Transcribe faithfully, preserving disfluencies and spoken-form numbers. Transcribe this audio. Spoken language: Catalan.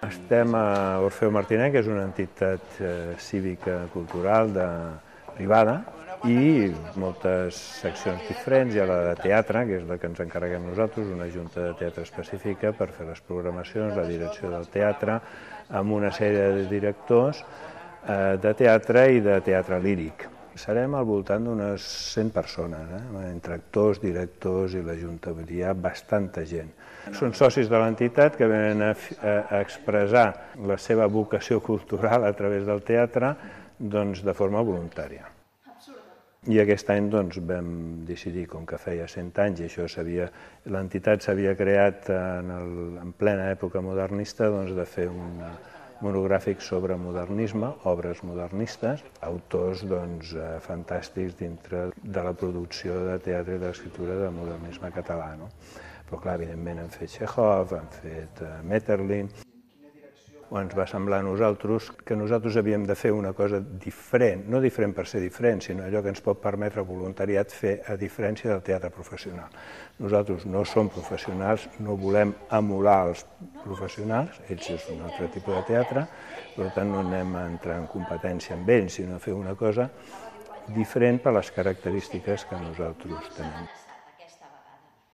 Estem a Orfeu Martinenc, que és una entitat cívica cultural privada, i moltes seccions diferents. Hi ha la de teatre, que és la que ens encarreguem nosaltres, una junta de teatre específica per fer les programacions, la direcció del teatre, amb una sèrie de directors de teatre i de teatre líric. Serem al voltant d'unes cent persones, eh? entre actors, directors i la junta, vull dir, hi ha bastanta gent. Són socis de l'entitat que venen a, a expressar la seva vocació cultural a través del teatre doncs, de forma voluntària. I aquest any doncs, vam decidir, com que feia cent anys, i això l'entitat s'havia creat en, el, en plena època modernista, doncs, de fer un monogràfic sobre modernisme, obres modernistes, autors doncs, fantàstics dintre de la producció de teatre i d'escriptura de modernisme català. No? Però clar, evidentment han fet Txékhov, han fet Maeterlinck. Ens va semblar a nosaltres que nosaltres havíem de fer una cosa diferent, no diferent per ser diferent, sinó allò que ens pot permetre voluntariat fer a diferència del teatre professional. Nosaltres no som professionals, no volem emular els professionals, ells és un altre tipus de teatre, per tant no anem a entrar en competència amb ells, sinó a fer una cosa diferent per les característiques que nosaltres tenim.